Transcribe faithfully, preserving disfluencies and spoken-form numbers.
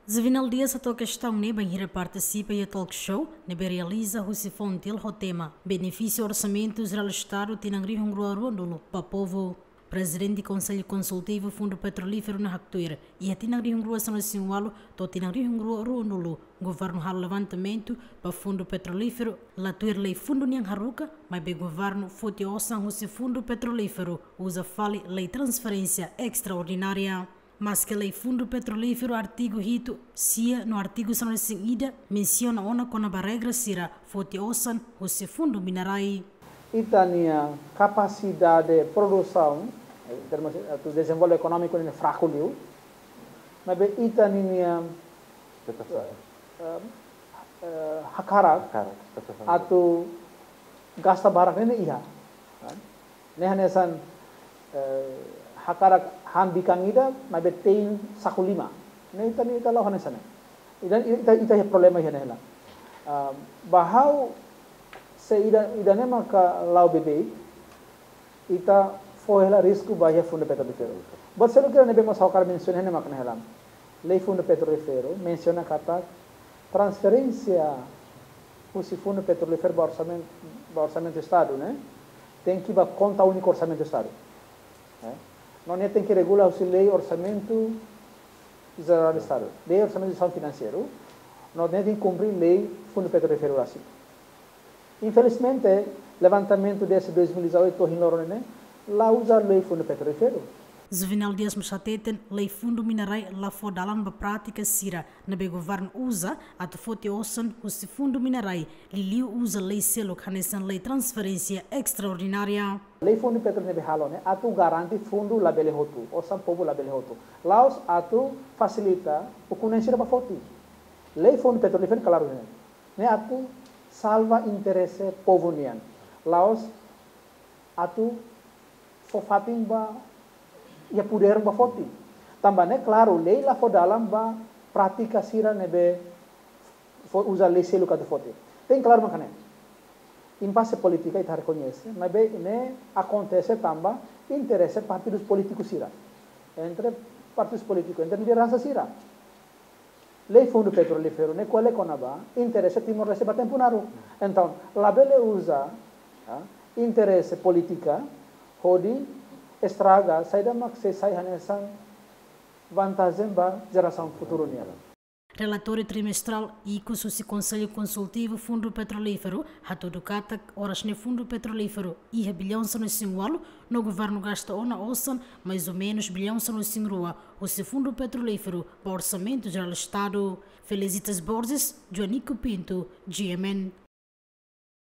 Juvenal Dias hato'o kestaun ne'e bainhira partisipa iha talk show ne'ebé realiza husi Fontil ho tema Benefísiu Orsamentu Jerál Estadu tinan rihun rua ruanulu ba povu. Prezidente Konsellu Konsultivu Fundu Petrolíferu ne'e haktuir, iha tinan rihun rua sanulu-resin-ualu to'o tinan rihun rua ruanulu, governu halo levantamentu ba Fundu Petrolíferu, la tuir lei fundu nian haruka, maibé governu foti osan husi Fundu Petrolíferu uza fali lei transferénsia estraordinária. Maske lei Fundu Petrolíferu artigu hitu, sia no artigu sanulu-resin-ida mensiona ona kona-ba regra sira foti osan husi Fundu Minerai. Ita-nia kapasidade produsaun, eh, termus atu dezenvolve ekonómiku ne'e fraku liu, maibé ita ninia, eh, eh, hakarak, hakarak, betul, atu gasta barak ne'e iha. Kan? Ne'e hanesan, eh, hakarak han bikan ida, maibé tein saku lima. Ne'e ita, ne'e ita la'o hanesan ne'e. Ita, ita, ita iha problema iha ne'e hela. Ah, ba ha'u se ida, ida-ne'e maka la'o beibeik, ita fó hela risku ba iha Fundu Petrolíferu. Buat seluk ida ne'ebé mós ha'u hakarak mensiona ne'e maka ne'e hela. Lei Fundu Petrolíferu mensiona katak transferénsia husi Fundu Petrolíferu ba orsamen-, ba orsamentu Estadu, ne'e tenke ba konta úniku orsamentu Estadu. Eh? No ne'e tenke regula husi lei Orsamentu Jerál Estadu, lei orsamentu de gestão financeira, no ne'e tenke kumpre lei Fundu Petrolíferu rasik. Infelizmente, levantamentu desde dois mil e dezoito to'o ohin loron ne'e, la uza lei Fundu Petrolíferu. Juvenal Dias mós hateten, lei Fundu Minerai la fó dalan ba prátika sira ne'ebé governu uza atu foti osan husi Fundu Minerai, liuliu uza lei seluk hanesan lei transferénsia estraordinária. Lei Fundu Petrolíferu ne'ebé halo ne'e atu garante fundu labele hotu, osan povu labele hotu. La'ós atu fasilita ukun-na'in sira ba foti. Lei Fundu Petrolíferu klaru ne'e. Ne'e atu salva interese povu nian. La'ós atu fó fatin ba iha podér ba foti. Tanba ne'e klaru, lei la fó dalan ba prátika sira ne'ebé fó uza lei seluk atu foti. Tenke klaru mak ne'e. Impase polítika ita rekoñese, maibé ne'e akontese tanba interese partidus polítiku sira. Entre partidus polítiku, entre lideransa sira. Lei Fundu Petrolíferu ne'e ko'alia kona-ba interese Timor-Leste ba tempu naruk. Entaun, labele uza, ah, interese polítika hodi estraga saida mak sei sai hanesan vantajen ba jerasaun futuru nian. Relatóriu trimestrál ikus husi Konsellu Konsultivu Fundu Petrolíferu hatudu katak oras ne'e Fundu Petrolíferu iha billaun sanulu-resin-ualu, no governu gasta ona osan mais ou menus billaun sanulu-resin-rua husi Fundu Petrolíferu ba Orsamentu Jerál Estadu. Felicitas Borges, Joanico Pinto, G M N.